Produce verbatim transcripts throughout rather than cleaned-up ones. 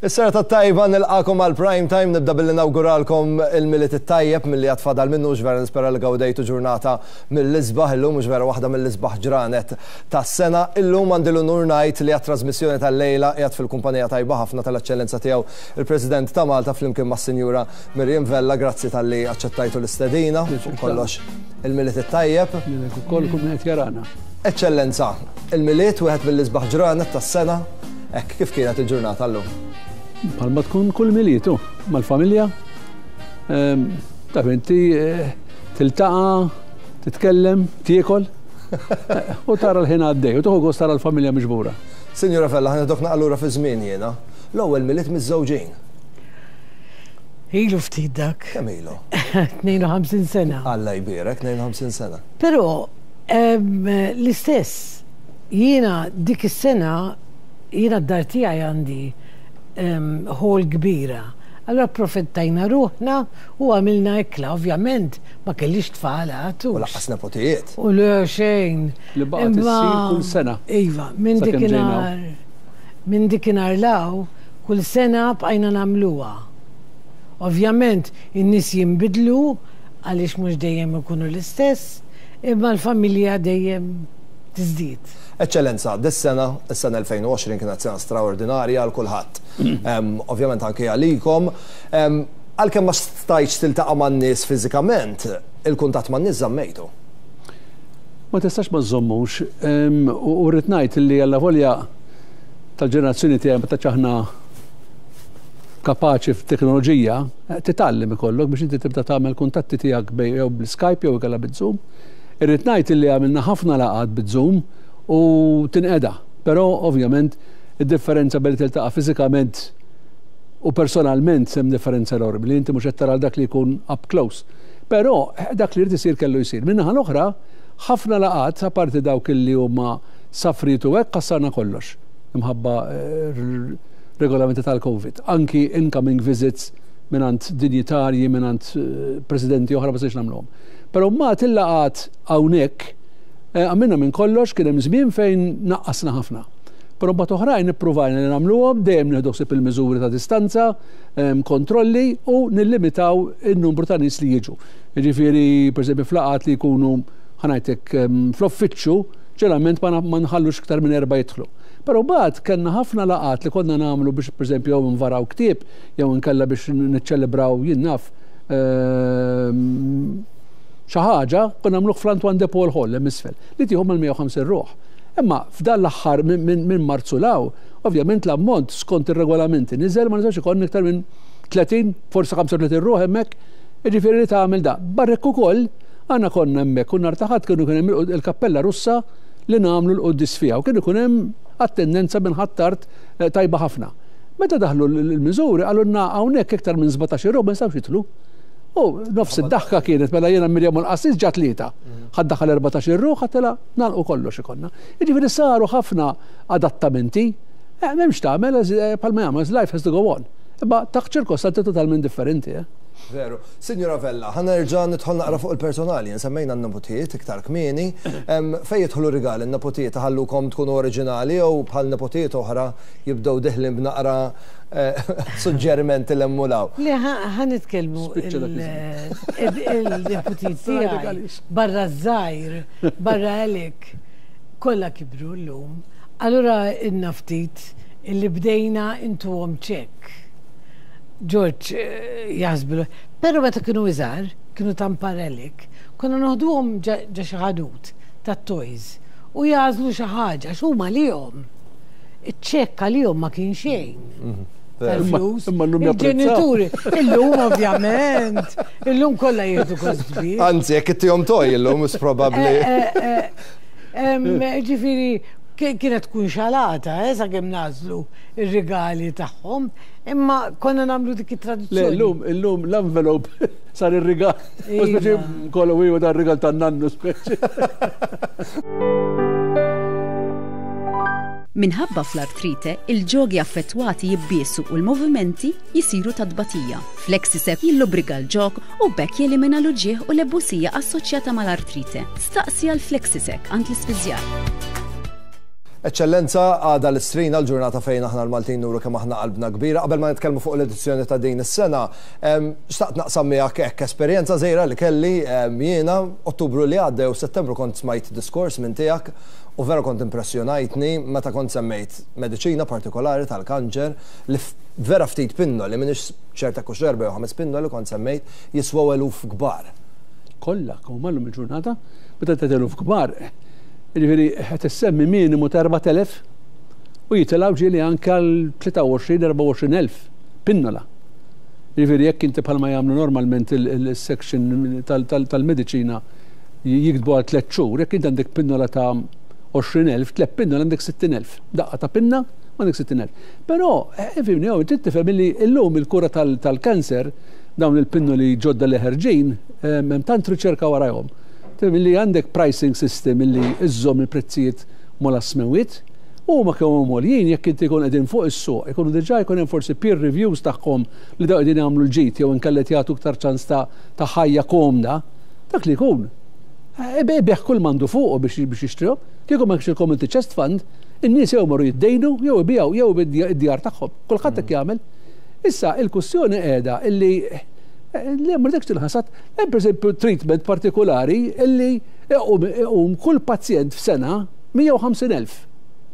Is-serata tajba, nilqagħkom għal Prime Time. Nibda billi nawguralkom il-Milied it-tajjeb milli għad fadal minnu. Vera nispera li gawdejtu ġurnata mill-isbaħ illum, mhux vera waħda mill-isbaħ ġranet tas-sena. Illum għandi l-unur ngħid li għat-trasmissjoni tal-lejla qiegħed fil-kumpanija tajba ħafna tal-Eċċellenza tiegħu il-President ta' Malta flimkien mas-Sinjura Miriam Vella. Grazzi talli aċċettajtu l-istedina. Fuq kollox, il-Milied it-tajjeb. Lilek ukoll, kull min qed jarana. Eċċellenza, il-Milied wieħed mill-isbaħ ġranet tas-sena, hekk kif kienet il-ġurnata llum? Bħalma tkun kull Milied, mal-familja. Ehm, taf inti, eh, tiltaqa', titkellem, tiekol u tara l-ħin għaddej, u tieħu gost tara l-familja miġbura. Sinjura Vella, ħa neħodok allura fi żmien jiena. L-ewwel Milied miż-żewġin. Ilu ftit dak. Kemm ilu? tnejn u ħamsin sena. Alla jbierek, tnejn u ħamsin sena. Però em, l-istess, jiena dik is-sena, jiena d-dar tiegħi għandi em, hall kbira. Allora approfittajna ruħna u għamilna ikla. Ovvjament ma kellix tfal għadu. U lanqas nepotijiet. U le, xejn. Li baqgħet Imma- issir kull sena. Iva, minn Sakemm dikinhar. Minn dikinhar 'l hawn, kull sena bqajna nagħmluha. Ovvjament, in-nies jinbidlu għaliex mhux dejjem ikunu l-istess, imma l-familja dejjem tiżdied. Eċċellenza, dis-sena, is-sena elfejn u għoxrin kienet sena straordinarja għal kulħadd. Em, Ovvjament anke għalikom. Em, Għalkemm ma stajtx tiltaqa' man-nies fiżikament, il-kuntatt man-nies żammejtu. Ma tistax ma żommux, em, u u rrid ngħid li għalla volja tal-ġenerazzjoni tiegħi meta aħna kapaċi f'teknoloġija, eh, titgħallem ikollok biex inti tibda tagħmel kuntatti tiegħek bej jew bl-Skype jew inkella bit-Zoom. Irrid ngħid li għamilna ħafna laqgħat bit-Zoom u tinqeda. Però ovvjament id-differenza billi tiltaqa' fiżikament u personalment hemm differenza enormi li inti mhux qed tara dak li jkun up close. Però eh, dak li jrid isir kellu jsir. Min-naħa l-oħra, ħafna laqgħat, apparti dawk li huma safritu hekk, ħassarna kollox imħabba eh, regolamenti tal-Covid. Anki incoming visits mingħand dinjitarji, mingħand eh, presidenti oħra, ma stajniex nagħmluhom. Però ma til-laqgħat hawnhekk eh, għamilna minn kollox. Kien hemm żmien fejn naqqasna ħafna. Però mbagħad oħrajn ippruvajna li nagħmluhom, dejjem nieħdu ħsieb il-miżuri ta' distanza, em, kontrolli u nillimitaw in-numru ta' nies li jiġu. Jiġifieri, pereżempju, f'laqgħat li jkunu, ħa ngħidlek, em, fl-uffiċċju, ġeneralment ma na- ma nħallux iktar minn erba' jidħlu. Però mbagħad kellna ħafna laqgħat li konna nagħmlu biex, pereżempju, jew nvaraw ktieb jew inkella biex niċċelebraw, jien naf, ehm, xi ħaġa, konna nagħmluh fl-Antoine de Paul Hall hemm isfel li tieħu mal-mija u ħamsin ruħ. Imma f'dan l-aħħar minn min, min Marzu 'l hawn, ovvjament l-ammont skont ir-regolamenti niżel, ma nistax ikollna iktar minn tletin, forsi ħamsa u tletin ruħ hemmhekk, jiġifieri li tagħmel da. Barrek ukoll għandna konna hemmhekk u nhar ta' Ħadd kienu kien hemm il-kappella Russa li nagħmlu l-quddies fiha u kien ikun hemm attendenza minn Ħ'Attard eh, tajba ħafna. Meta daħlu l-miżuri qalulna hawnhekk iktar minn sbatax ruħ ma nistgħux jidħlu. U nofs id-daħka kienet mela jiena, Mirjam u l-qassis ġa tlieta. Ħa ddaħħal erbatax ruħ, ħadd nagħlqu kollox ikollna. Jiġifieri saru ħafna adattamenti, eh, m'hemmx tagħmel, eh, bħalma jagħmel, life has to go on. Imma taħt ċirkostanti totalment differenti. Eh? Veru. Signora Vella, ħa nerġa' nidħol naqra fuq il-personali, semmejna n-nepotijiet iktar kmieni. Em, Fej jidħlu rigali, n-nepotijiet ħallukom tkunu oriġinali jew bħal nepotijiet oħra jibdew deħlin b'naqra eh, suġġerimenti l-emmulaw? Le, ħa nitkellmu Spiċċa dak il-nepotijiet tiegħi għaliex. Barra żgħir, barra Alec, kollha kibru llum. Allura inna ftit illi bdejna intuhom ċekk. George eh, jaħsbu, pero meta kienu iżgħar, kienu tampar Alec, konna noħduhom ġo xi ħanut tat-toys u jagħżlu xi ħaġa x'huma lihom. Iċ-ċekk għalihom ma kien xejn tal-flus. Imma llum japprezzaw. Il-ġenituri, illum ovvjament, illum kollha jieħdu gost kbir. Anzi, jekk ittihom toy illum, is probabbli. Eh, eh, Ġifieri, kienet tkun xalata, eh, sakemm nagħżlu ir-rigali tagħhom, imma konna nagħmlu dik Le, it-tradizzjoni. illum, illum l-envelope sar ir-rigal. U Iva. speċi kollu iwa dar rigal tan-nannu speċi. Minħabba fl-artrite, il-ġogi affettwati jibbiesu u l-movimenti jisiru ta' tbatija. Flexisec jillubrika l-ġog u b'hekk jelimina l-uġieħ u l-ebusija assoċjata mal-artrite. Staqsi għal Flexisec għand l-ispiżjar. Eċċellenza, għada l-Istrina, l-ġurnata fejn aħna l-Maltin nuru kemm aħna qalbna kbira. Qabel ma nitkellmu fuq l-edizzjoni ta' din is-sena, xtaqt naqsam miegħek hekk esperjenza żgħira li kelli jiena Ottubru li għadda jew Settembru kont smajt diskors minn tiegħek u vera kont impressjonajtni meta kont semmejt mediċina partikolari tal-kanċer li vera ftit pinnoli, m'iniex ċerta hux erba' jew ħames pinnoli kont semmejt jiswew eluf kbar. Kollha, kemm illum il-ġurnata, meta tgħid eluf kbar. Jiġifieri qed issemmi minimu ta' erbat elef u jitilgħu ġieli anke għal tlieta u għoxrin, erbgħa u għoxrin elf pinnola. Jiġifieri jekk inti bħalma jagħmlu normalment il-section tal-mediċina jiktbu għal tliet xhur, jekk inti għandek pinnola ta' għoxrin elf, tliet pinnola għandek sittin elf. Daqqa ta' pinna għandek sittin elf. Però, ifhimni, jew trid tifhem li llum il-kura tal-kanser, dawn il-pinnoli ġodda li ħerġin, hemm tant riċerka warajhom. Li għandek pricing system illi iżżomm il-prezzijiet mola smewit, u ma kemm huma għoljin jekk inti jkun qegħdin fuq is-suq, ikunu diġà jkun hemm forsi peer reviews tagħhom li daw qegħdin jagħmlu l-ġid jew inkella qed jagħtu iktar ċans ta' ħajja komda, dak li jkun. Ibigħ kull m'għandu fuqu biex jixtrihom. Kieku ma kienx il-Community Chest Fund, in-nies jew marru jiddejnu jew ibigħu jew id-djar tagħhom. Kulħadd hekk jagħmel. Issa il-kwistjoni qiegħda illi li ma rridekx tilħasad, hemm pereżempju treatment partikolari illi iqum kull pazjent f'sena mija u ħamsin elf.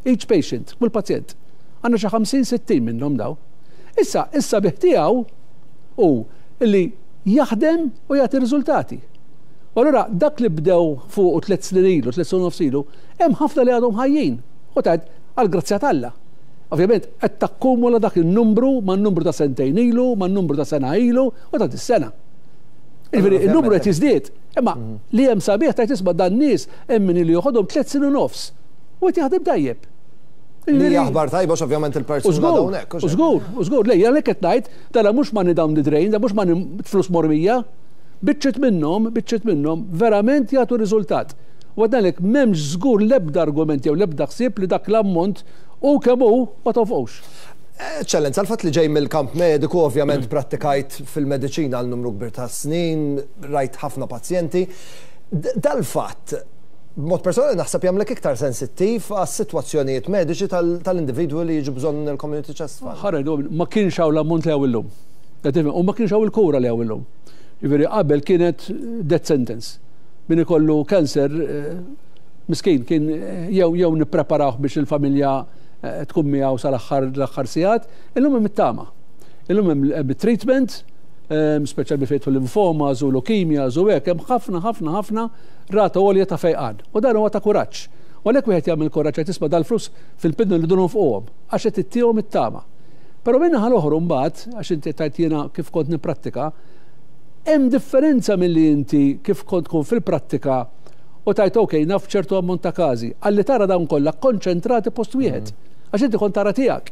Each patient, kull pazjent. Għandna xi ħamsin sittin minnhom daw. Issa, issa bih tiegħu hu illi jaħdem u jagħti riżultati. U allura dak li bdew fuq tliet snin ilu, tliet snin nofs ilu, hemm ħafna li għadhom ħajjin. U tgħid għall-grazzja t'Alla. Ovvjament, qed takkumula dak in-numru man-numru ta' sentejn ilu, man-numru ta' sena ilu u ta' dis-sena. Jiġifieri, il-numru qed jiżdied. Imma li hemm sabiħ tgħid isma' dan nies hemm min li joħodhom tliet snin u nofs. U qed jaħdem tajjeb. Li aħbar tajba ovvjament il-persuna hawnhekk. U żgur, u żgur, lejja għalhekk qed ngħid, dara mhux money down the drain, da mhux money flus mormija. Biċċiet minnhom, biċċiet minnhom verament jagħtu riżultat. U għadnalek m'hemmx żgur l-ebda argument jew l-ebda ħsieb li dak l-ammont u kemm hu ma tonfqux. Eċċellenza, l-fatt li ġej mill-kamp mediku, ovvjament prattikajt fil-mediċina għal numru kbir ta' snin, rajt ħafna pazjenti. Dal-fatt, b'mod personali naħseb jagħmlek iktar sensittiv għas-sitwazzjonijiet mediċi tal-individwu li jiġu bżonn il-Community Chest Fund. Ħareġ, ma kienx hawn l-ammont li hawn illum. U ma kienx hawn il-kura li hawn illum. Jiġifieri qabel kienet death sentence. Min ikollu kanser, miskin, kien jew jew nippreparawh biex il-familja tkun miegħu sal-aħħar l-aħħar sigħat, illum hemm it-tama. Illum hemm treatment, speċjalment fejn limfomas u leukemias u hekk, hemm ħafna ħafna ħafna rata għolja ta' fejqan. U dan huwa ta' kuraġġ. U għalhekk wieħed jagħmel kuraġġ qed tisma' dal-flus fil-pidnu li dunhom fuqhom għax qed ittihom it-tama. Però minn naħa l-oħra mbagħad, għax inti tajt jiena kif kont nipprattika, hemm differenza milli inti kif kont tkun fil-prattika u tajt ok, naf ċertu ammont ta' każi, għalli tara dawn kollha konċentrati post wieħed. Għax inti kont tara tiegħek,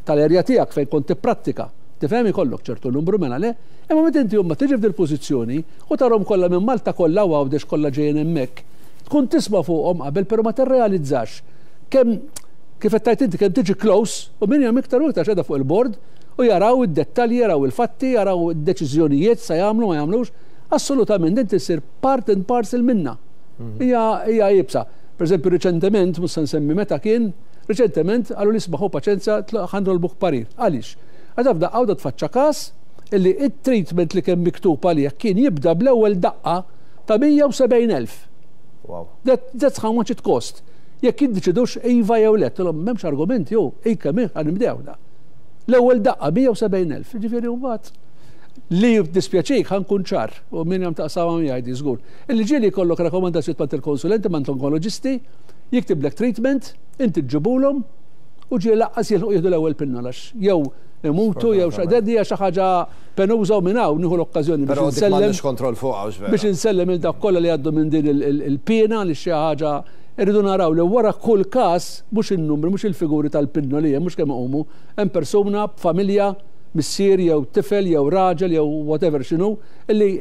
tal-erja tiegħek fejn kont tipprattika. Tifhem ikollok ċertu numru mela le, imma meta inti huma tiġi f'dil pożizzjoni u tarhom kollha minn Malta kollha u Għawdex kollha ġejjin hemmhekk, tkun tisma' fuqhom qabel però ma tirrealizzax kemm kif qed tgħid inti kemm tiġi close u min hemm iktar u iktar x'għedha fuq il-bord u jaraw id-dettalji, jaraw il-fatti, jaraw id-deċiżjonijiet sa jagħmlu ma jagħmlux, assolutament inti ssir part and parcel minna. Hija hija iebsa. Per eżempju, riċentement, mhux se nsemmi meta kien, riċentement qalu li isbaħu paċenza ħa nitolbuk parir. Għaliex? Għax f'daqqa waħda tfaċċa każ illi it-treatment li kien miktub għalih kien jibda bl-ewwel daqqa ta' mija u sebgħin elf. Wow. That, that's how much it cost. Jekk jiddeċidux iva jew le, tilhom m'hemmx argument jew ejka min ħa nibdew da. L-ewwel daqqa mija u sebgħin elf, jiġifieri mbagħad li jiddispjaċik ħa nkun ċar u min hemm taqsama miegħi di żgur. Illi ġieli jkollok rakkomandazzjoni mant il-konsulenti, mant onkoloġisti, jiktiblek treatment, inti ġġibulhom u ġieli laqqas jilħqu jieħdu l-ewwel pinnola għax jew imutu jew xi ħaġa, hija xi ħaġa penuża u minn hawn nieħu l-okkażjoni biex Però dik insellem m'għandniex kontroll fuqha, hux vera. biex insellem il dak kollha li għaddu minn din il-pena li xi ħaġa irridu naraw li wara kull każ mhux in-numri, mhux il-figuri tal-pinnoli, mhux kemm iqumu, hemm persuna b'familja, missier jew tifel jew raġel jew whatever x'inhu, illi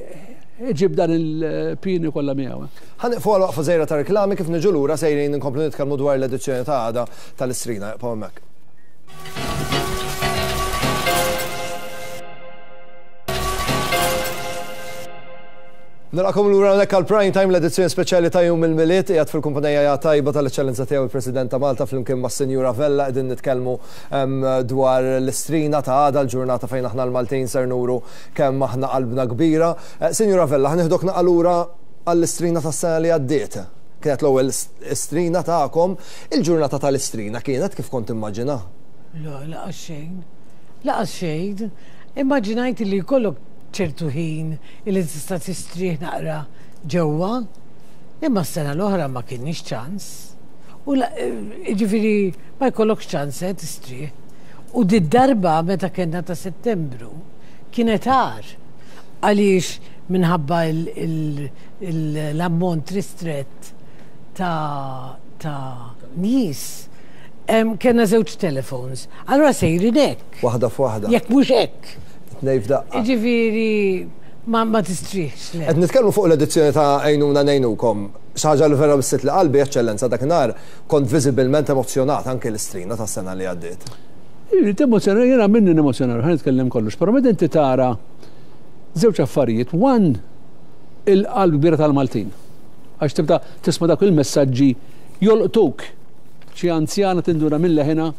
iġib dan il-pini kollha miegħu. Ħa nieqfu għal waqfa żgħira ta' reklami kif niġu lura sejrin inkomplu nitkellmu dwar l-edizzjoni ta' għada tal-Istrina. Ibqgħu hemmhekk. Nilqagħkom lura hawnhekk għal Prime Time, l-edizzjoni speċjali ta' Jum il-Milied. Qiegħed fil-kumpanija tajba tal-Eċċellenza tiegħu il-President ta' Malta flimkien mas-Sinjura Vella. Qegħdin nitkellmu dwar l-Istrina ta' għada, l-ġurnata fejn aħna l-Maltin ser nuru kemm aħna qalbna kbira. Sinjura Vella, ħa nieħdok naqra lura għall-Istrina tas-sena li għaddiet. Kienet l-ewwel Istrina tagħkom, il-ġurnata tal-Istrina kienet kif kont immaġina? Le, lanqas xejn. Lanqas xejn. Immaġinajt li jkollok ċertu ħin li tista' tistrieħ naqra ġewwa, imma s-sena l-oħra ma kienx ċans. U ġifieri ma jkollokx ċans eh, tistrieħ. U did-darba meta kellna ta' Settembru kienet agħar, għaliex minħabba l-ammont ristrett ta' ta' nies kellna żewġ telefons. Allora sejrin hekk. Waħda f'waħda. Jekk mhux hekk. Tnejn f'daqqa. Ġifieri ma, ma tistrieħx, le. Qed nitkellmu fuq l-edizzjoni ta' Għinuna Ngħinukom. Xi ħaġa li vera missitli qalbi, Eċċellenza, dakinhar kont viżibilment emozjonat anke l-Istrina tas-sena li għaddiet. Emozjonat, jiena minni nemozjonar, ħa nitkellem kollox, però meta inti tara żewġ affarijiet, one, il-qalb kbira tal-Maltin. Għax tibda tisma' dak il-messaġġi jolqtuk. Xi anzjana tinduna minn leħina,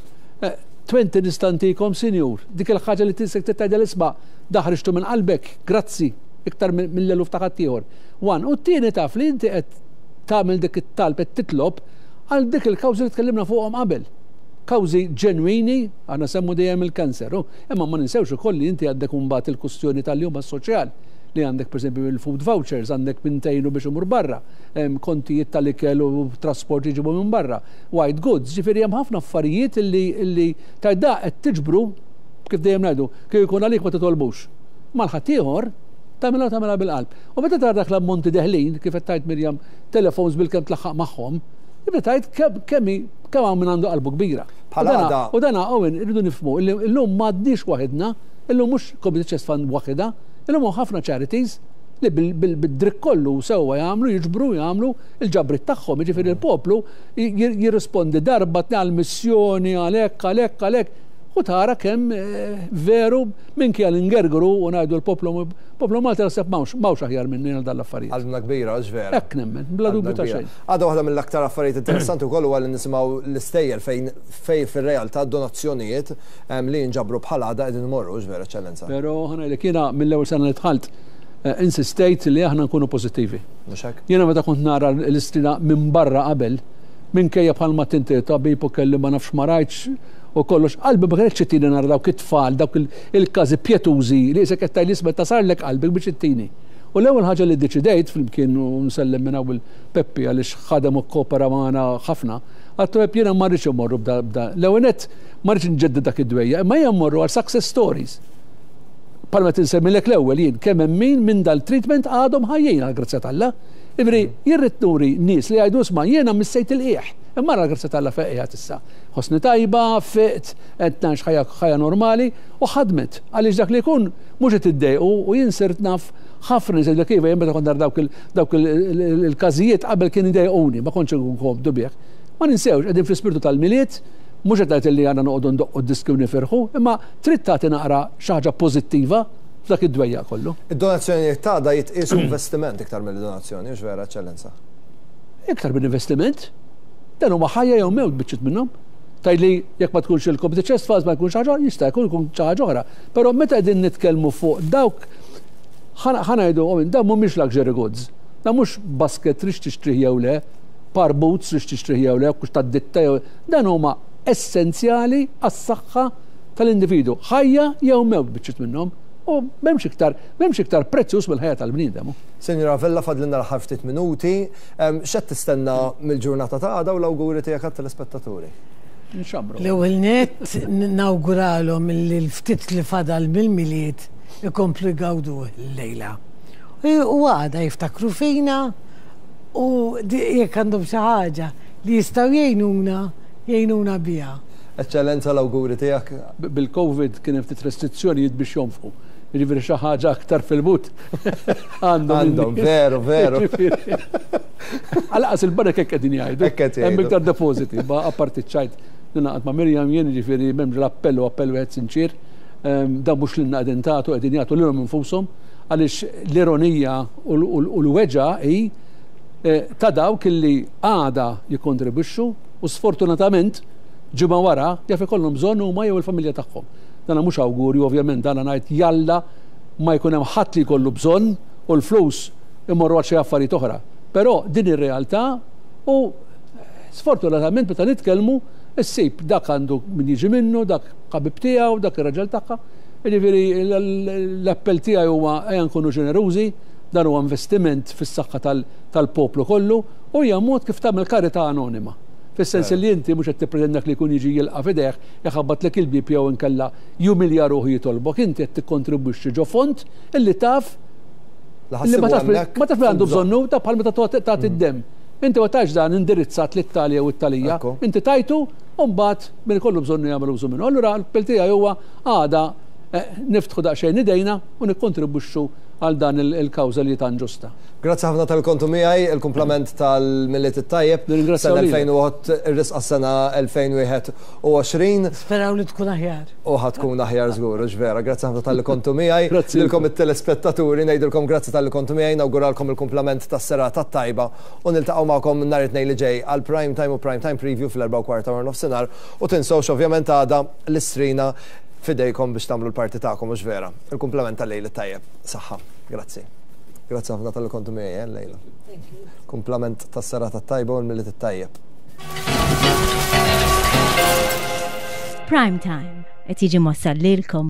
twenty nista' ntikom, sinjur, dik il-ħaġa li tisek tgħidha l-isma' daħriġtu minn qalbek, grazzi, iktar mill-eluf ta' ħaddieħor. One, u t-tieni taf li inti qed tagħmel dik it-talb, qed titlob għal dik il-kawżi li tkellimna fuqhom qabel. Kawżi ġenwini, aħna semmu dejjem il-kanser, imma ma ninsewx ukoll li inti għandek imbagħad il-kustjoni tal-jum soċjal li għandek pereżempju il-food vouchers, għandek mintejnu biex imur barra, kontijiet tal-ikel u trasport jiġibu minn barra, white goods, ġifieri hemm ħafna affarijiet illi illi tajda qed tiġbru, kif dejjem ngħidu, kif ikun għalik ma titolbux. Mal-ħaddieħor tagħmilha, tagħmilha bil-qalb. U meta tara dak l-ammonti deħlin, kif qed tgħid Mirjam, telefons bil-kemm tlaħħaq magħhom, tibda tgħid kemm kemm hawn min għandu qalbu kbira. Bħala U dana, Owen, irridu nifhmu illi llum m'għadniex waħedna, illum mhux Community Chest Fund waħedha, illum hawn ħafna charities li bil-dritt kollu sewwa jagħmlu, jiġbru, jagħmlu il-ġabrit tagħhom, jiġifieri il-poplu jirrispondi darba għal missjoni, għalhekk, għalhekk, għalhekk. U tara kemm veru minkejja li ngergru u ngħidu l-poplu poplu Malti naħseb m'hawnx m'hawnx aħjar minni għal dan l-affarijiet. Qalbna kbira, għax vera. Hekk nemmen, bla dubju ta' xejn. Għadha waħda mill-aktar affarijiet interessanti wkoll huwa li nisimgħu l-istejjer fejn fejn fir-realtà donazzjonijiet li jinġabru bħal għada qegħdin imorru, vera, Eċċellenza. Però ħa ngħidlek, jiena mill-ewwel sena li dħalt insistejt li aħna nkunu pożittivi. Mhux hekk? Jiena meta kont nara l-Istrina minn barra qabel, minkejja bħalma tinti tabib u kelli ma nafx ma rajtx u kollox, qalbi ma kienx ittini nara dawk it-tfal, dawk il-każi pjetużi li isek qed tgħid isma' tasarlek qalbek biex ittini. U l-ewwel ħaġa li ddeċidejt flimkien, u nsellem minn hawn Peppi għaliex ħadem u kopera magħna ħafna, għattu Peppi, jiena ma rridx immorru bda bda. L-ewwel nett ma rridx nġedded dak id-dwejja, imma ejja mmorru għal success stories. Palma tinsemmilek l-ewwel jien kemm hemm min minn dal-treatment għadhom ħajjin għal grazzja t'Alla. Ivri, jirrid nuri nies li jgħidu, "Isma', jiena missejt il-qiegħ. Imma għal grazzja t'Alla fejqiegħat issa. Ħossni tajba, fiqt, qed ngħix ħajja ħajja normali," u ħadmet. Għaliex dak li jkun mhux qed iddejqu, u jien sirt naf ħafna nies li kif jien meta kont nara dawk dawk il-każijiet qabel kien idejquni, ma kontx inkun komdu bih. Ma ninsewx, qegħdin fl-ispirtu tal-Milied, mhux qed ngħid li għandna noqogħdu ndoqqu d-diski u nifirħu, imma trid tagħti naqra xi ħaġa pożittiva f'dak id-dwejja kollu. Id-donazzjonijiet ta' da jitqisu investiment iktar mill-donazzjoni, mhux vera, Eċċellenza? Iktar minn investiment. Dan huma ħajja jew mewt biċċiet minnhom. Tgħidli jekk ma tkunx il-Community Chest Funds ma jkunx ħaġa, jista' jkun jkun xi ħaġa oħra. Però meta qegħdin nitkellmu fuq dawk, ħa ngħidu, dawn mhumiex luxury goods. Dan mhux basket trid tixtrih jew le, par boots trid tixtrih jew le, kux tad-ditta jew dan huma essenzjali għas-saħħa tal-individu. Ħajja jew mewt biċċiet minnhom. U m'hemmx iktar, m'hemmx iktar prezzjuż mill-ħajja tal-bniedem. Sinjura Vella, fadlilna l-aħħar ftit minuti, x'qed tistenna mill-ġurnata ta' għada u l-awguri tiegħek għat-telespettaturi? Nxamru. L-ewwel nett nawguralhom li l-ftit li fadal mill-Milied ikomplu jgawdu l-lejla. U għada jiftakru fina u jekk għandhom xi ħaġa li jistgħu jgħinuna, jgħinuna biha. Eċċellenza, l-awguri tiegħek. Bil-Covid kien hemm ftit restrizzjonijiet biex jonfqu. Jiġifieri xi ħaġa aktar fil-but. Għandhom, għandhom, veru, veru. Għalqas il-banek hekk qegħdin jgħidu. Hekk qed jgħidu. Hemm iktar depositi, ma apparti ċajt. Ninaqat ma' Mirjam jien, jiġifieri m'hemmx l-appell u appell wieħed sinċir. Dan mhux lilna qegħdin tagħtu, qegħdin jagħtu lilhom infushom. Għaliex l-ironija u l-weġgħa hi ta' dawk illi għada jikkontribwixxu u sfortunatament ġimgħa wara jaf ikollhom bżonn huma jew il-familja tagħhom. Dana mhux awgurju ovvjament, dana ngħid jalla ma jkun hemm ħadd li jkollu bżonn u l-flus imorru għal xi affarijiet oħra. Però din ir-realtà u sfortunatament meta nitkellmu issib dak għandu min jiġi minnu, dak ħabib tiegħu, dak ir-raġel tagħha. Jiġifieri l-appell tiegħi huwa ejja nkunu ġenerużi, dan huwa investiment fis-saħħa tal-poplu kollu u hija mod kif tagħmel karità anonima. Fis-sens li inti mhux qed tippretendak li jkun jiġi jilqa' f'idejh, jaħabbatlek il-bieb jew inkella jumilja ruħu jitolbok, inti qed tikkontribwixxi ġo fond illi taf li ma taf ma taf għandu bżonnu, ta' bħal meta tagħti d-demm. Inti ma tgħidx dan indirizzat lit-tali jew it-talija, inti tajtu u mbagħad min ikollu bżonnu jagħmel użu minnu. Allura l-appell tiegħi huwa għada niftħu daqsxejn idejna u nikkontribwixxu għal dan il-kawża li tan ġusta. Grazzi ħafna tal-kontu miegħi, il-kumplament tal-Milied it-tajjeb. Sena elfejn u ir-risqa sena elfejn u wieħed u għoxrin. Speraw li tkun aħjar. U ħa tkun aħjar żgur, u vera. Grazzi ħafna tal-kontu miegħi. Lilkom it-telespettaturi ngħidilkom grazzi tal-kontu miegħi, nawguralkom il-kumplament tas-serata tajba u niltaqgħu magħkom nhar it-Tnejn li ġej għal Prime Time u Prime Time Preview fl-erbgħa u kwarta wara nofsinhar u tinsewx ovvjament għada l-istrina fidejkom biex tagħmlu l-parti tagħkom, mhux vera. Il-kumplament tal-lejl it-tajjeb. Saħħa. Grazzi. Grazzi ħafna tal-li kontu miegħi, eh, Lejla. Kumplament tas-serata tajba u l-Milied it-tajjeb. Prime Time qed jiġi mwassal lilkom